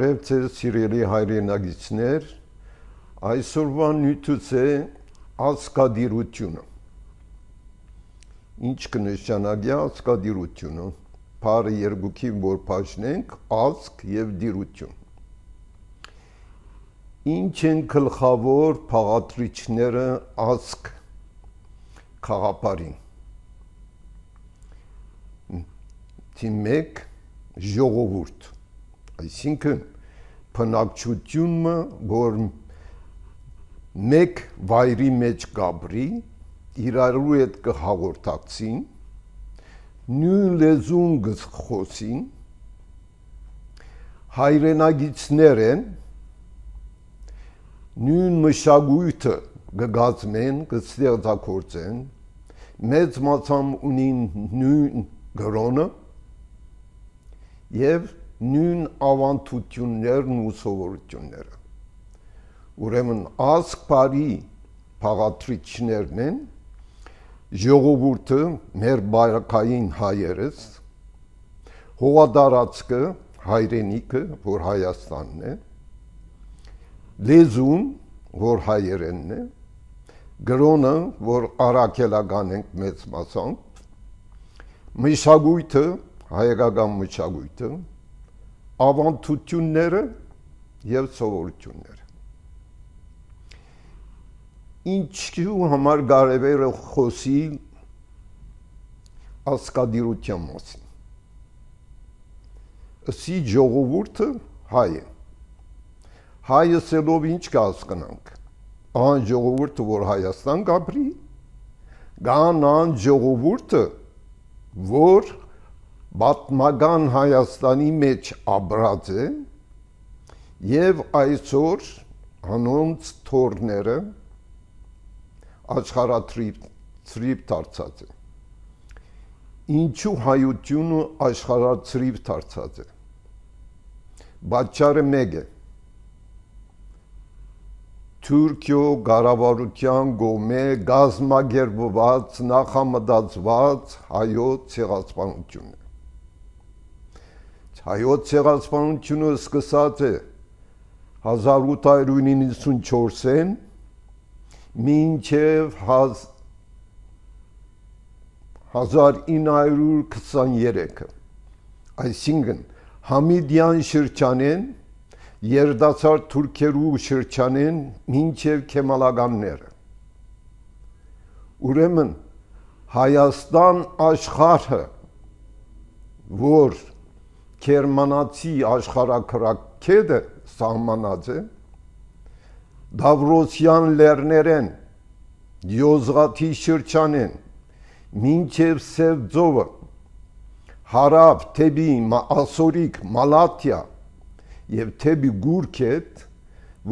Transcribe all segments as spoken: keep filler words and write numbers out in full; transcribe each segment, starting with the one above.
Բարև ձեզ սիրելի հայրենագիցներ, այսօրվա նյութս է ազգադիրությունը։ Ինչ կնշանակի ազգադիրությունը, բառը երկուքին որ բաժնենք, ազգ և դիրություն։ Ինչ են գլխավոր բաղադրիչները ազգ խաղապարին։ Թիմ մեկ ժողովուրդ, այսինքն բնակչությունը, որ մեկ վայրի մեջ գաբրի, իրարու հետ կհաղորդակցին, նույն լեզուն կխոսին, հայրենագիցներ են, նույն մշակույթը կգազմեն, կստեղծագործեն, մեծ մասամբ ունին նույն գրոնը և նույն ավանդություններն ու սովորությունները։ Ուրեմն ազգ բարի բաղադրիչներն են, ժողովուրդը, մեր բարակային հայերս, հողատարածքը, հայրենիքը, որ Հայաստանն է, լեզուն, որ հայերենն է, գրոնը, որ առաքելական ենք մեծ մասամբ, մշակույթը, հայկական մշակույթը, ավանդությունները և սովորությունները։ Ինչու համար կարևոր է խոսել ազգադիրության մասին։ Ըսի ժողովուրդը հայ է։ Հայը սելով ինչ կհասկանանք։ Այն ժողովուրդը, որ Հայաստան գաբրի, կան այն ժողովուրդը, որ պատմական Հայաստանի մեջ ապրած է և այսօր անոնց թորները աշխարհացրիվ դարձած է։ Ինչու հայությունը աշխարհացրիվ դարձած է։ Պատճառը մեկ է։ Թուրքիո կառավարության կողմէ կազմակերպված, նախամտածված հայոց ցեղասպանությունը։ Հայոց ցեղասպանությունը սկսած է հազար ութ հարյուր իննսունչորսին մինչև հազար ինը հարյուր քսաներեքը, այսինքն Համիդյան շրջանեն, երիտասարդ թուրքերու շրջանեն մինչև քեմալականները։ Ուրեմն Հայաստան աշխարհը, որ գերմանացի աշխարհաքրակեդը սահմանած է, Դավրոսյան լեռներեն, Յոզղաթի շրջանեն, մինչև Սև ծովը, հարավ թեպի ասորիկ Մալաթիա և թեպի Գուրքետ,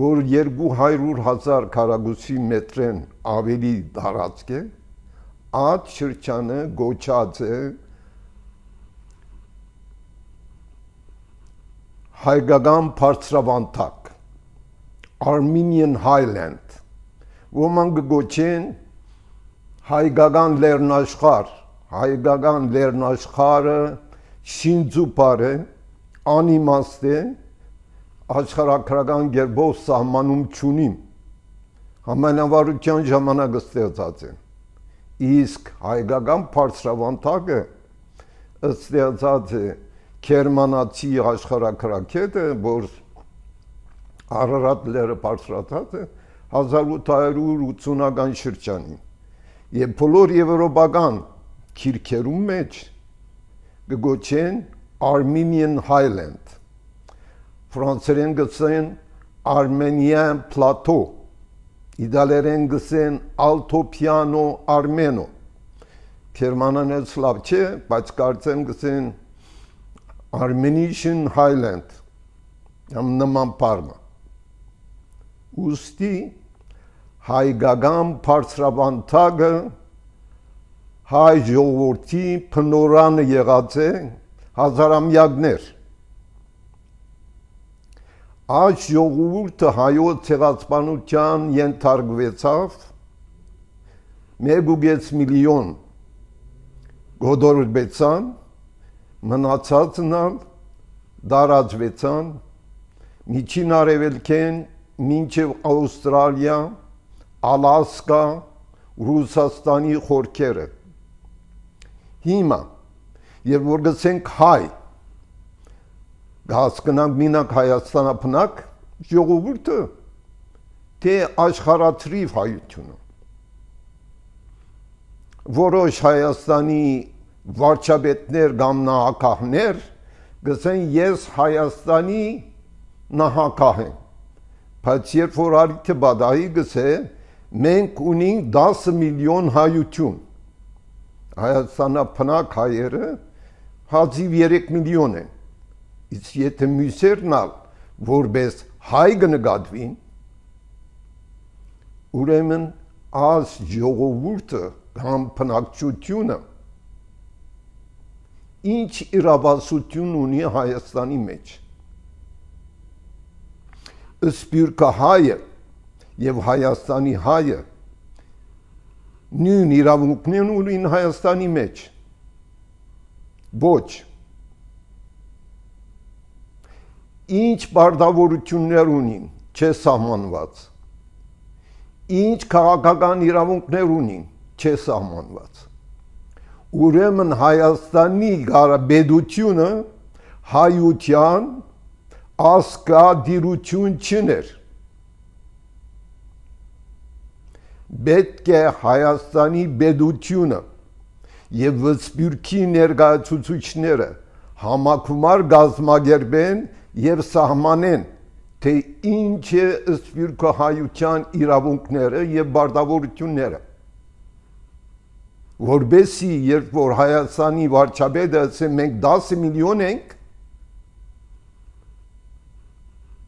որ երկու հարյուր հազար քառակուսի մետրեն ավելի տարածք է, այդ շրջանը գոչած է հայկական բարձրավանդակ, Armenian Highland, ոմանք գոչեն հայկական լեռնաշխարհ, հայկական լեռնաշխարհը շինծու բառ է, անիմաստ է, աշխարհագրական կերպով սահմանում չունիմ, համանավարության ժամանակ ստեղծած է, իսկ հայկական բարձրավանդակը ստեղծած է գերմանացի աշխարհագրագետը, որ Արարատ լեռը բարձրացած է հազար ութ հարյուր ութսունական շրջանին և բոլոր եվրոպական գիրքերում մեջ կգոչեն Armenian Highland, ֆրանսերեն գսեն Armenian Plateau, իդալերեն գսեն Alto Piano Armeno, գերմանան էլ սլավ չէ, բայց կարծեմ գսեն Armenian Highland, նման բառը։ Ուստի հայկական բարձրավանդակը հայ ժողովրդի փնորանը եղած է հազարամյակներ։ Այս ժողովուրդը հայոց ցեղասպանության ենթարկվեցավ մեկ միլիոն գոդորբեցան, մնացածն ալ դարածվեցան Միջին Արևելքեն մինչև Ավստրալիա, Ալասկա, Ռուսաստանի խորքերը։ Հիմա, երբ որ գսենք հայ, հասկանանք մինակ Հայաստանապնակ ժողովուրդը, թե աշխարհաթրիվ հայությունը։ Որոշ Հայաստանի վարչապետներ կամ նահանգներ գսեն ես Հայաստանի նահանգ եմ, բայց երբ որ արիթը բադայի գսե, մենք ունենք դասը միլիոն հայություն, Հայաստանապնակ հայերը հազիվ երեք միլիոն են, իսկ եթե մյուսերն ալ որպես հայ կնկատվին, ուրեմն այս ժողովուրդը կամ բնակչությունը ինչ իրավասություն ունի Հայաստանի մեջ։ Սփյուռքը հայը եւ Հայաստանի հայը նույն իրավունքներն ունին Հայաստանի մեջ։ Ոչ։ Ինչ բարդավորություններ ունին, չէ սահմանված։ Ինչ քաղաքական իրավունքներ ունին, չէ սահմանված։ Ուրեմն Հայաստանի գարաբեդությունը հայության ասկադիրություն չներ։ Պետք է Հայաստանի բեդությունը եւ Սփյուռքի ներկայացուցիչները համակումար գազմագերբեն եւ սահմանեն, թե ինչ է Սփյուռքի հայության իրավունքները եւ բարդավորությունները։ Որբեսի երբ որ Հայաստանի վարչապետը ասե մենք դասը միլիոն ենք,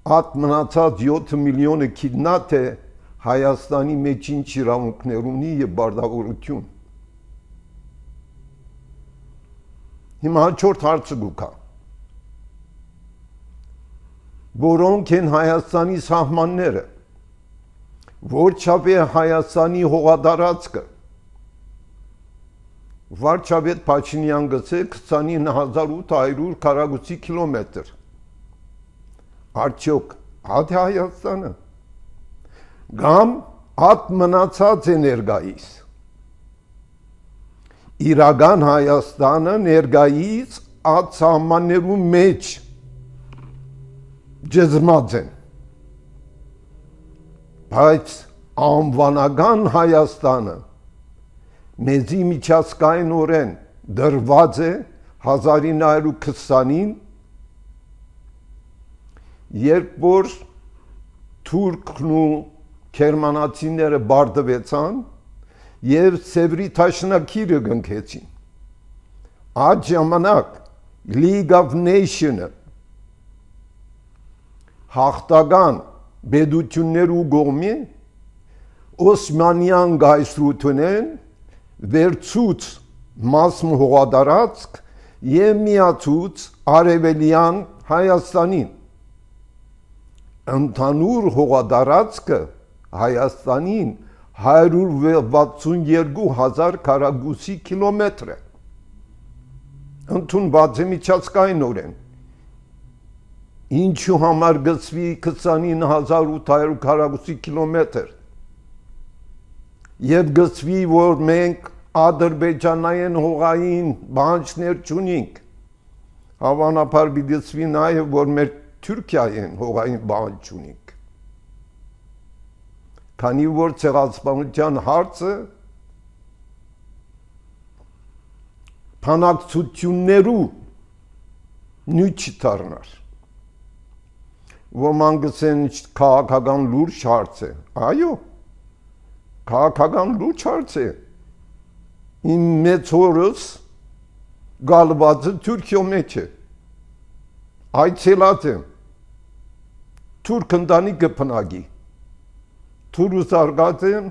At մնացած յոթ միլիոնը քիդնատ է Հայաստանի մեջ ինչ իրավունքներ ունի եւ բարդավորություն։ Հիմա հաջորդ հարցը գուքա։ Որոնք են Հայաստանի սահմանները, որչափ է Հայաստանի հողատարածքը։ Վարչապետ Փաշինյան գծե քսանինը հազար ութ հարյուր քառակուսի կիլոմետր։ Արդյոք հատ է Հայաստանը, գամ հատ մնացած է ներկայիս։ Իրական Հայաստանը ներկայիս այդ սահմաններու մեջ ջզմած են, բայց անվանական Հայաստանը մեզի միջազգայինորեն դրված է հազար ինը հարյուր քսանին, երբ որ թուրքն ու գերմանացիները բարդվեցան եւ Սևրի Թաշնակիրը գնքեցին։ Այդ ժամանակ League of Nations-ը հաղթական բեդություններու գոմի Օսմանյան գայսրութունեն վերցուց մասմ հողատարածք եւ միացուց արևելյան Հայաստանին։ Ընդհանուր հողատարածքը Հայաստանին հարյուր վաթսունյերկու հազար քառակուսի կիլոմետր է։ Ընդունված է միջազգայինորեն։ Ինչու համար գծվի քսանինը հազար ութ հարյուր քառակուսի կիլոմետր։ Եվ գծվի, որ մենք ադրբեջանային հողային բանջներ չունենք։ Հավանաբար գծվի նաև, որ մեր Թուրքիային հողային բանջ ունենք։ Քանի որ ցեղասպանության հարցը բանակցություններու նույն չդառնար։ Ոմանք գսեն քաղաքական լուրջ հարց է։ Այո, քաղաքական լուրջ հարց է։ Իմ մեծ հորս գալված է Թուրքիո մեջ է։ Այցելած եմ։ Թուրք ընտանիքը բնակի։ Թուր ուզարգած եմ,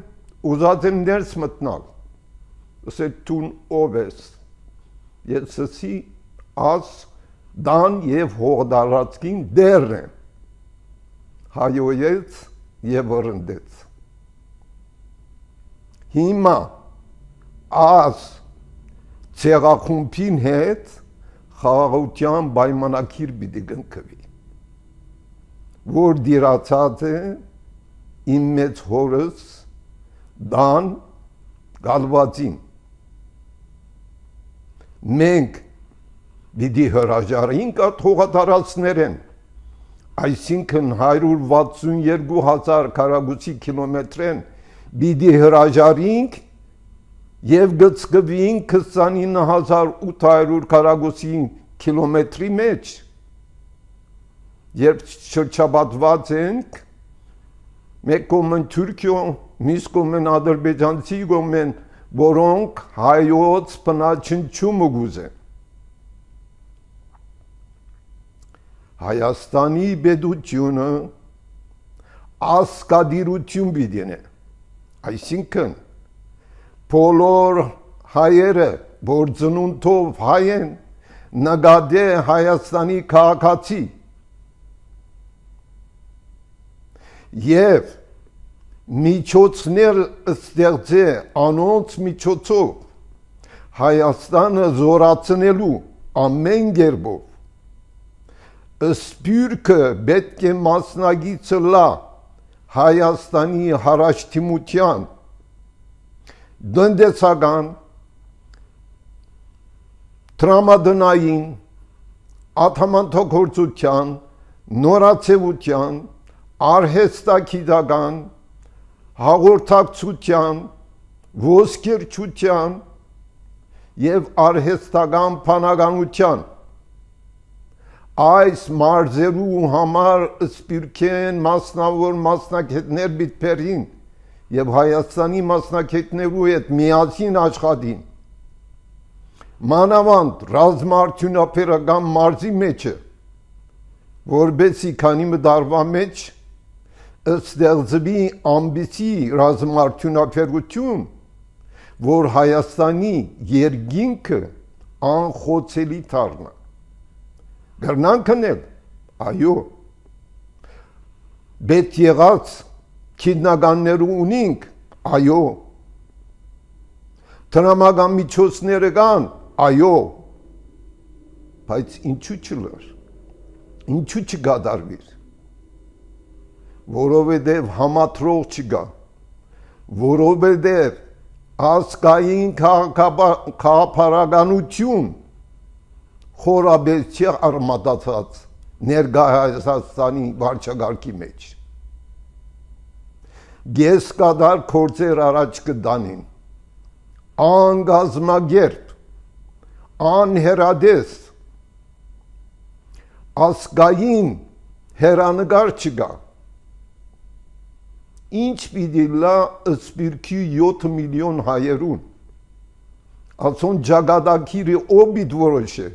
ուզած եմ ներս մտնալ։ Ասել տուն ով ես։ Ես ասի աս դան եւ հողդարածքին դեռ եմ։ Հայոյեց եւ վրընդեց։ Հիմա աս ցեղախումբին հետ խաղաղության պայմանագիր պիտի կնքվի։ որ դիրացած է իմ մեծ հորս դան գալվածին։ Մենք դիդի հրաժարինք այդ հողատարածքներեն, այսինքն հարյուր վաթսունեքու հազար քառակուսի կիլոմետրեն դիդի հրաժարինք և գծկվինք քսանինը հազար ութ հարյուր քառակուսի կիլոմետրի մեջ, երբ շրջապատված ենք, մեկ կողմն Թուրքիո, մյուս կողմն ադրբեջանցի կողմն, որոնք հայոց բնաչնչումը գուզեն։ Հայաստանի պետությունը ասկադիրություն պիտի ունի, այսինքն բոլոր հայերը, որ ծնունդով հայ են, նկատի Հայաստանի քաղաքացի և միջոցներ ստեղծե անոնց միջոցով Հայաստանը զորացնելու ամեն կերպով սպյուրքը պետք է մասնակիցը լա Հայաստանի հարաշտիմության տնտեսական, տրամադրային, ատամանդագործության, նորացեության, արհեստագիտական, հաղորդակցության, ոսկերչության և արհեստական բանականության այս մարզերու համար սպիրկեն մասնավոր մասնակետներ բիտպերին և Հայաստանի մասնակետներու հետ միասին աշխատին, մանավանդ ռազմաարդյունաբերական մարզի մեջը, որբեսի քանի մդարվա մեջ ստեղծվի ամբիսի ռազմաարդյունաբերություն, որ Հայաստանի երկինքը անխոցելի դառնա։ Գրնանք անել, այո, պետք եղած քիդնականներու ունինք, այո, տրամական միջոցները կան, այո, բայց ինչու չլար, ինչու չկատարվիր, որովհետև համատրող չկա, որովհետև ազգային քաղաքապարականություն խորաբես չի արմատացած ներկա Հայաստանի վարչակարգի մեջ։ Գեսկադար գործեր առաջ կդանին, անգազմագերբ, անհերադես, ազգային հերանեկար չկա։ Ինչ պիտի լա սպիրկի յոթ միլիոն հայերուն, ասոն ճակատագիրը ով պիտի որոշե,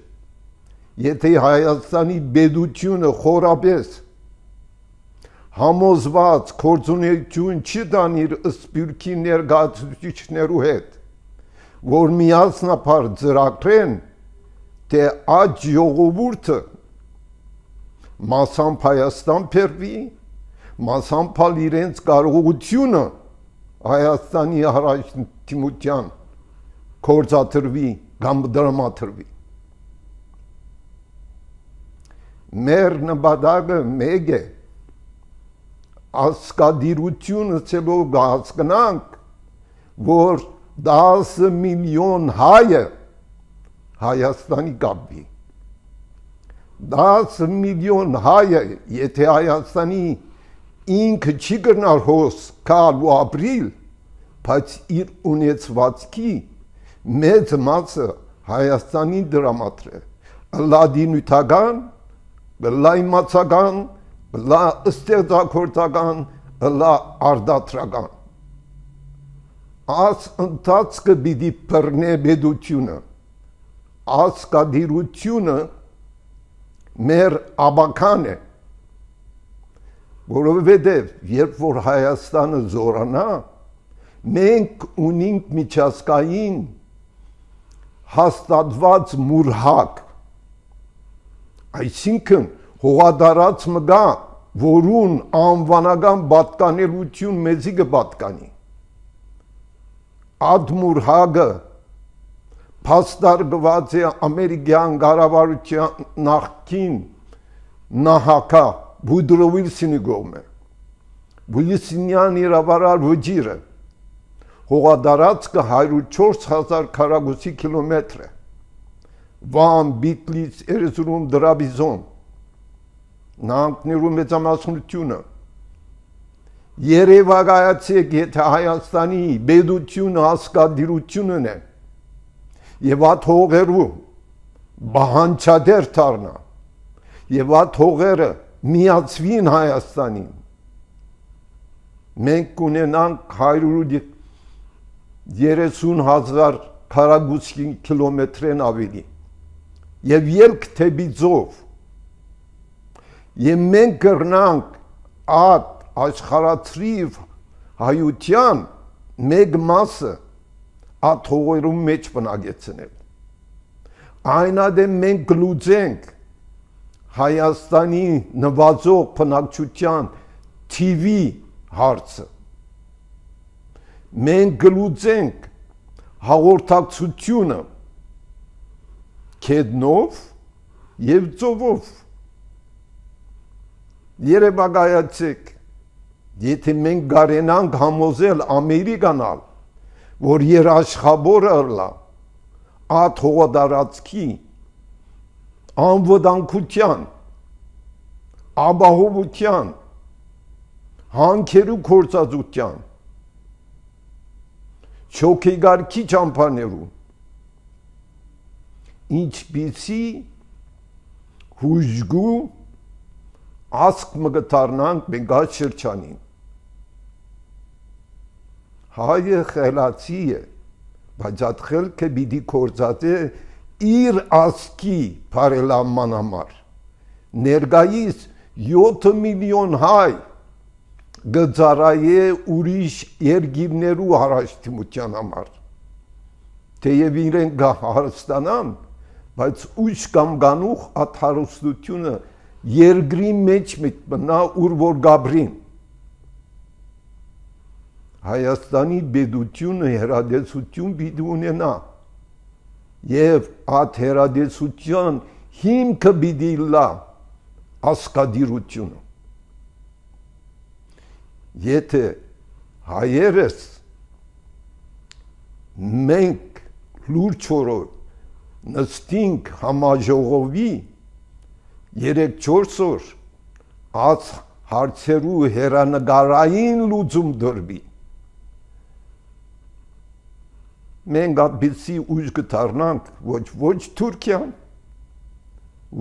եթե Հայաստանի պետությունը խորապես համոզված գործունեություն չի տանիր սպիրկի ներկայացուցիչներու հետ, որ միասնապար ծրագրեն, թե այդ ժողովուրդը մասամբ Հայաստան բերվի, մասամբ իրենց կարողությունը Հայաստանի հարաշտիմության գործադրվի կամ դրամադրվի։ Մեր նպատակը մեկ է, ասկադիրությունը ցելով հասկանանք, որ դասը միլիոն հայը Հայաստանի կապվի։ դասը միլիոն հայը, եթե Հայաստանի ինքը չի կրնար հոս կալ ու ապրիլ, բայց իր ունեցվածքի մեծ մասը Հայաստանի դրամատրե, լա դինութական, լա իմացական, լա ստեղծագործական, լա արդատրական։ Աս ընթացքը պիտի բռնե պետությունը, ասկադիրությունը մեր աբական է, որովհետև երբ որ Հայաստանը զորանա, մենք ունենք միջազգային հաստատված մուրհակ, այսինքն հողադարած մգա, որուն անվանական պատկանելություն մեզի կպատկանի։ Այդ մուրհակը փաստարկված է ամերիկյան կառավարության նախկին նահանգա Woodrow Wilson-ի կողմը։ Wilson-յան իրավարար վճիրը հողադարածքը հարյուր չորս հազար քառակուսի կիլոմետր է։ Վան, Բիտլից, Էրզրում, Դրաբիզոն, նահանգներու մեծամասնությունը։ Երևակայացեք, եթե Հայաստանի բեդությունը հասկադիրությունն է եւ այդ հողերու բահանչադեր դառնա եւ այդ հողերը միացվին Հայաստանին, մենք կունենանք հարյուր երեսուն հազար քառակուսի կիլոմետրեն ավելի եւ ելք թեպի ծով եւ մենք կրնանք այդ աշխարհացրիվ հայության մեկ մասը այդ հողերում մեջ բնակեցնել։ Այնադեմ մենք գլուծենք Հայաստանի նվազող բնակչության թիվի հարցը։ Մենք գլուծենք հաղորդակցությունը քեդնով եւ ծովով։ Երևակայացեք, եթե մենք գարենանք համոզել Ամերիկանալ, որ երաշխավորը ըլլա այդ հողադարածքի անվտանգության, ապահովության, հանքերու գործածության, շոգեգարքի ճամփաներու, ինչպիսի հուժգու ասկ մգտարնանք մենք այդ շրջանին։ Հայը խելացի է, բայց այդ խելքը պիտի գործածե իր ասկի բարելավման համար։ Ներկայիս յոթ միլիոն հայ գծարայե ուրիշ երկիրներու հարաշտիմության համար։ Թեև իրենք հարստանան, բայց ուշ կամ գանուխ այդ հարստությունը երկրի մեջ մտնա ուր որ գաբրին։ Հայաստանի բեդությունը հերադեսություն պիտի ունենա եւ այդ հերադեսության հիմքը պիտի լա ասկադիրությունը։ Եթե հայերս մենք լուրջ նստինք համաժողովի երեք չորս օր այս հարցերու հերանեկարային լուծում դրվի, մենք այդպիսի ուժ կդառնանք, ոչ ոչ Թուրքիան,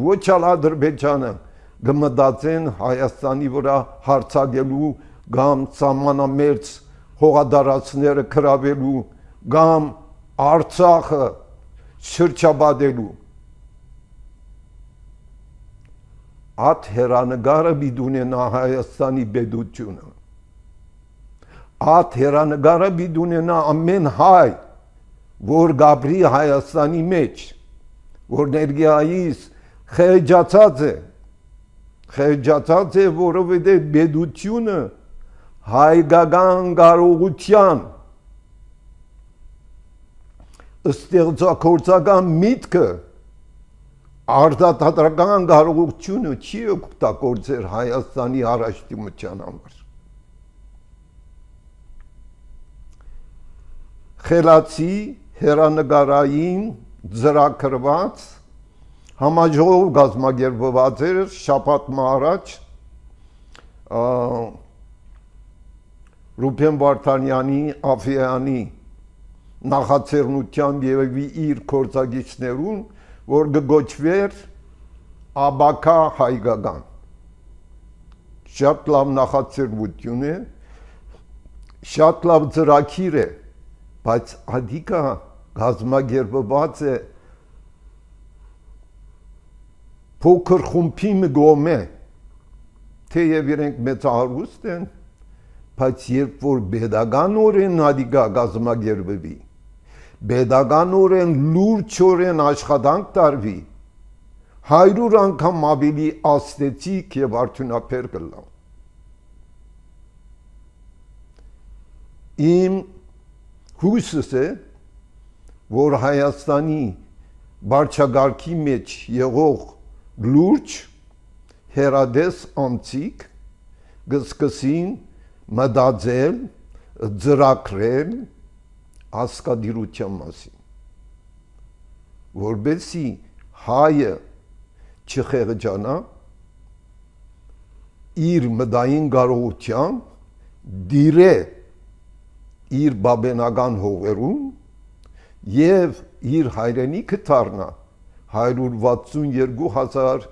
ոչ Ադրբեջանը կմտածեն Հայաստանի վրա հարձակելու կամ սահմանամերձ հողադարածները գրավելու կամ Արցախը շրջապատելու։ Այդ հերանեկարը պիտի ունենա Հայաստանի բեդությունը։ Այդ հերանեկարը պիտի ունենա ամեն հայ, որ գաբրի Հայաստանի մեջ, որ ներկայիս խեղճացած է, խեղճացած է, որովհետև բեդությունը հայկական կարողության ստեղծագործական միտքը արտադրական կարողությունը չի օգտագործել Հայաստանի առաջադիմության համար։ Խելացի հերանեկարային ծրագրված համաժողով կազմակերպված էր շաբաթ առաջ Ռուբեն Վարդանյանի Աֆյանի նախաձեռնությամբ եւ իր կորցագիչներուն, որ կգոչվեր Աբակա հայկական։ Շատ լավ նախաձեռնություն է, շատ լավ ծրագիր է, բայց ադիկա կազմակերպված է փոքր խումբի կողմէ, թեև իրենք մեծահարուստ են, բայց երբ որ pedagogan ադիկա կազմակերպվի, pedagogan լուրջորեն աշխատանք տարվի, հարյուր անգամ ավելի աստեցիկ եւ արդյունաբեր կլա։ Իմ հույսս է, որ Հայաստանի վարչագահքի մեջ եղող լուրջ հերադես անցիկ գսկսին մտածել, ծրագրել ասկադիրության մասին, որբեսի հայը չխեղճանա իր մտային կարողությամբ դիրե իր բաբենական հողերում եւ իր հայրենիքը դառնա հարյուր վաթսուն երկու հազար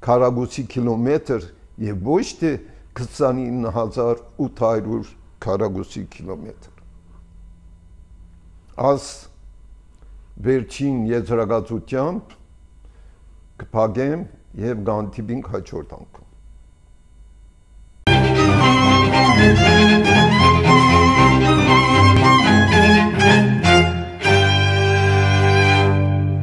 քառակուսի կիլոմետր եւ ոչ թե քսանինը հազար ութ հարյուր քառակուսի կիլոմետր։ Աս վերջին եզրակացությամբ կփակեմ եւ գանտիբինք հաջորդ անգամ։